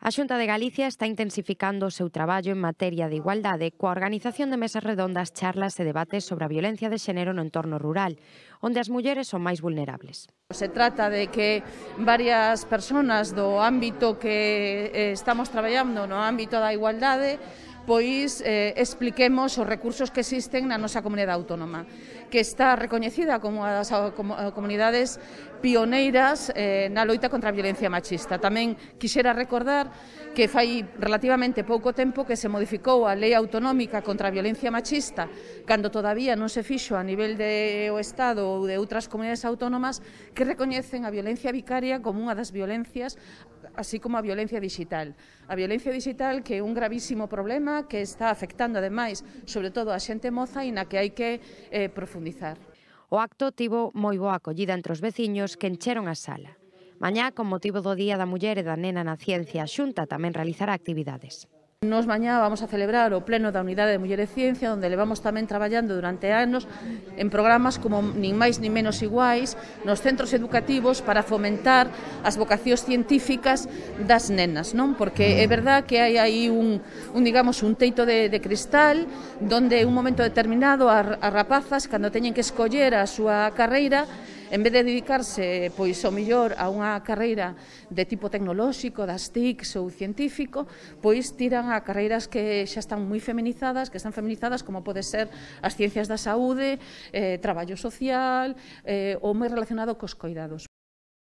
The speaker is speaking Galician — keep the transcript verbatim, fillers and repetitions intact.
A Xunta de Galicia está intensificando o seu traballo en materia de igualdade coa organización de mesas redondas, charlas e debates sobre a violencia de xénero no entorno rural, onde as mulleres son máis vulnerables. Se trata de que varias persoas do ámbito que eh, estamos traballando no ámbito da igualdade pois eh, expliquemos os recursos que existen na nosa comunidade autónoma, que está recoñecida como unha das comunidades pioneiras eh, na loita contra a violencia machista. Tamén quixera recordar que fai relativamente pouco tempo que se modificou a Lei Autonómica contra a Violencia Machista, cando todavía non se fixo a nivel do Estado ou de outras comunidades autónomas que recoñecen a violencia vicaria como unha das violencias, así como a violencia digital. A violencia digital que é un gravísimo problema que está afectando ademais, sobre todo a xente moza e na que hai que eh, profundizar. O acto tivo moi boa acollida entre os veciños que encheron a sala. Mañá, con motivo do Día da Muller e da Nena na Ciencia, a Xunta tamén realizará actividades. Nos mañá vamos a celebrar o pleno da Unidade de Muller e Ciencia, onde levamos tamén traballando durante anos en programas como nin máis nin menos iguais nos centros educativos para fomentar as vocacións científicas das nenas, non? Porque é verdad que hai aí un, un digamos, un teito de, de cristal donde en un momento determinado as, as rapazas, cando teñen que escoller a súa carreira, en vez de dedicarse, pois, ao mellor a unha carreira de tipo tecnolóxico, das T I Cs ou científico, pois tiran a carreiras que xa están moi feminizadas, que están feminizadas como pode ser as ciencias da saúde, eh, traballo social, eh, ou moi relacionado cos coidados.